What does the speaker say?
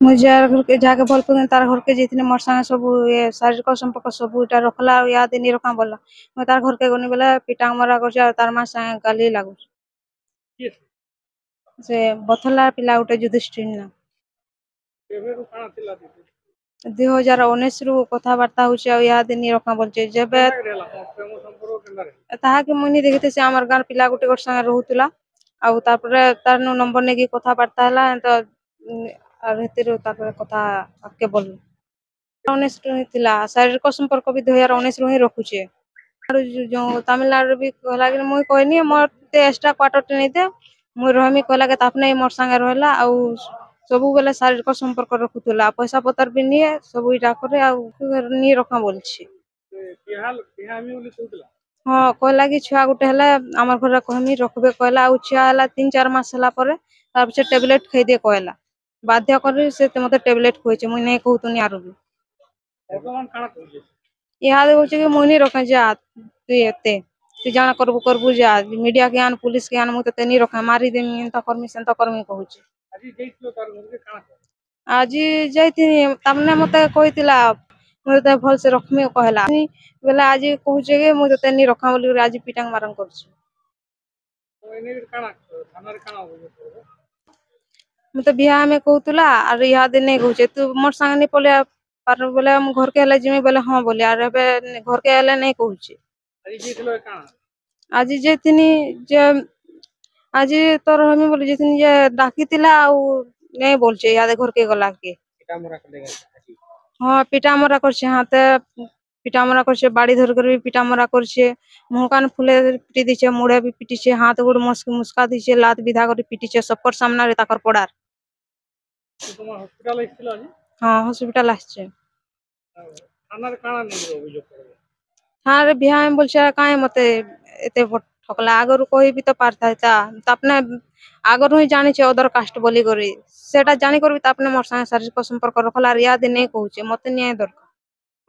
ମୁଇଁ ଯାହାର ଘରକେ ଯାହାକେ ଭଲ ପାଉଥିଲି ତାର ଘରକେ ଯାଇଥିଲି, ମୋର୍ ସାଙ୍ଗେ ସବୁ ଶାରୀରିକ ସମ୍ପର୍କ ସବୁ ଇଟା ରଖଲା ଆଉ ଇହାଦେ ନି ରଖା ବୋଲଲା। ମୁଇଁ ତାର ଘରକେ ଗନି ବେଲେ ପିଟା ମରା କରୁଛେ ଆଉ ତାର ମା ସାଙ୍ଗେ ଗାଲି ଲାଗୁଛେ। କିଏ ସେ? ସେ ବଥଲା ପିଲା ଗୋଟେ ଯୁଧିଷ୍ଠିର ନା। କେବେରୁ କାଣା ଥିଲା ଦିଦି? 2019ରୁ କଥାବାର୍ତ୍ତା ହଉଛେ ଆଉ ଇହାଦେ ନି ରଖା ବୋଲୁଛେ ଯେବେ। କେନ୍ତା କରି ହେଲା ତମର ପ୍ରେମ ସମ୍ପର୍କ କେନ୍ତା ହେଲା? ତାହାକେ ମୁଇଁ ନି ଦେଖିଥି, ସେ ଆମର ଗାଁର ପିଲା ଗୋଟେ ଗୋଟେ ସାଙ୍ଗେ ରହୁଥିଲା ଆଉ ତାପରେ ତାର ନୁ ନମ୍ବର ନେଇକି କଥାବାର୍ତ୍ତା ହେଲା ତ ଆର୍ ହେଥିରୁ ତାପରେ କଥା ଆଗକେ ବଢିଲା। 19ରୁ ହିଁ ଥିଲା ଶାରୀରିକ ସମ୍ପର୍କ ବି, 2019ରୁ ହିଁ ରଖୁଛେ। ଆରୁ ଯୋଉ ତାମିଲନାଡୁରେ ବି କହିଲା କି ମୁଇଁ କହିନି ମତେ ଏକ୍ସଟ୍ରା କ୍ୱାର୍ଟର ଟେ ନେଇଦେ, ମୁଇଁ ରହମି କହିଲା କି ତାପରେ ମୋର୍ ସାଙ୍ଗେ ରହିଲା ଆଉ ସବୁବେଲେ ଶାରୀରିକ ସମ୍ପର୍କ ରଖୁଥିଲା, ପଇସା ପତର ବି ନିଏ, ସବୁ ଇଟା କରେ ଆଉ ନି ରଖା ବୋଲଛି। ସେ ବିହା ବିହା ହେମି ବୋଲି କହୁଥିଲା? ହଁ, କହିଲା କି ଛୁଆ ଗୋଟେ ହେଲେ ଆମର ଘରେ କହମି ରଖବେ କହିଲା। ଆଉ ଛୁଆ ହେଲା 3-4 ମାସ ହେଲା ପରେ ତାର ପଛେ ଟ୍ୟାବଲେଟ ଖାଇଦେ କହିଲା, ବାଧ୍ୟ କରି ସେ ମତେ ଟ୍ୟାବଲେଟ ଖୁଆଇছে। ମୁଇଁ ନାଇଁ କହୁଥିନି ଆରୁ ବି। ବର୍ତ୍ତମାନ କାଣା କହୁଛେ? ଇହାଦେ କହୁଛେ କି ମୁଇଁ ନି ରଖେ, ଯା ତୁଇ, ଏତେ ତୁଇ ଜାଣା କରବୁ କରବୁ, ଯା ମିଡିଆ କେ ଆନ, ପୁଲିସ କେ ଆନ, ମୁଇଁ ତତେ ନି ରଖେ, ମାରିଦେମି, ଏନ୍ତା କରମି ସେନ୍ତା କରମି କହୁଛେ। ଆଜି ଯାଇଥିଲ ତାର ଘରକେ, କାଣା କହିଲା? ଆଜି ଯାଇଥିନି, ତାମାନେ ମତେ କହିଥିଲା ମୁଇଁ ତତେ ଭଲସେ ରଖମି କହିଲା ବେଲେ ଆଜି କହୁଛେ କି ମୁଇଁ ତତେ ନି ରଖା ବୋଲିକରି ଆଜି ପିଟାଙ୍ଗ ମାରଙ୍ଗ କରୁଛେ। ତ ଏନେ କାଣା ଥାନାରେ କାଣା ଅଭିଯୋଗ କରିବ? ମତେ ବିହା ହେମି କହୁଥିଲା ଆର୍ ଇହାଦେ ନାଇଁ କହୁଛେ। ତୁ ମୋର୍ ସାଙ୍ଗେ ନି ପଲେଇ ପାରବୁ ବେଲେ ମୁଁ ଘରକେ ହେଲେ ଯିମି ବେଲେ ହଁ ବୋଲି, ଆର୍ ଏବେ ଘରକେ ହେଲେ ନାଇଁ କହୁଛେ। ଆଜି ଯାଇଥିଲ କାଣା? ଆଜି ଯାଇଥିନି ଯେ ଆଜି ତ ରହମି ବୋଲି ଯାଇଥିନି ଯେ ଡାକିଥିଲା ଆଉ ନାଇଁ ବୋଲୁଛେ ଇହାଦେ ଘରକେ ଗଲା କି। ପିଟା ମରା କଲେ ଆଜି? ହଁ, ପିଟା ମରା କରିଛେ, ହାତେ ପିଟା ମରା କରିଛେ, ବାଡ଼ି ଧରି କରି ବି ପିଟା ମରା କରିଛେ, ମୁହଁ କାନ ଫୁଲେଇ ପିଟି ଦେଇଛେ, ମୁଡେ ବି ପିଟିଛେ, ହାତ ଗୋଡ଼ ମୁସ୍କା ଦେଇଛେ, ଲାତ ବିଧା କରି ପିଟିଛେ ସବକର ସାମ୍ନାରେ ତାକର ପଡ଼ାର। ତୁମ ହସ୍ପିଟାଲ ଆସିଥିଲ ଆଜି? ହଁ, ହସ୍ପିଟାଲ ଆସିଛେ। ଥାନାରେ କାଣା ନେଇକରି ଅଭିଯୋଗ କରିବ? ଥାନାରେ ବିହା ହେମି ବୋଲଛେ, କାଇଁ ମତେ ଏତେ ଠକଲା? ଆଗରୁ କହିବି ତ ପାରିଥାଇତା। ତାପରେ ଆଗରୁ ହିଁ ଜାଣିଛେ ଅଦର କାଷ୍ଟ ବୋଲିକରି, ସେଟା ଜାଣିକରି ବି ତାପରେ ମୋର୍ ସାଙ୍ଗେ ଶାରୀରିକ ସମ୍ପର୍କ ରଖଲା ଆର୍ ଇହାଦେ ନାଇଁ କହୁଛେ, ମତେ ନ୍ୟାୟ ଦରକାର।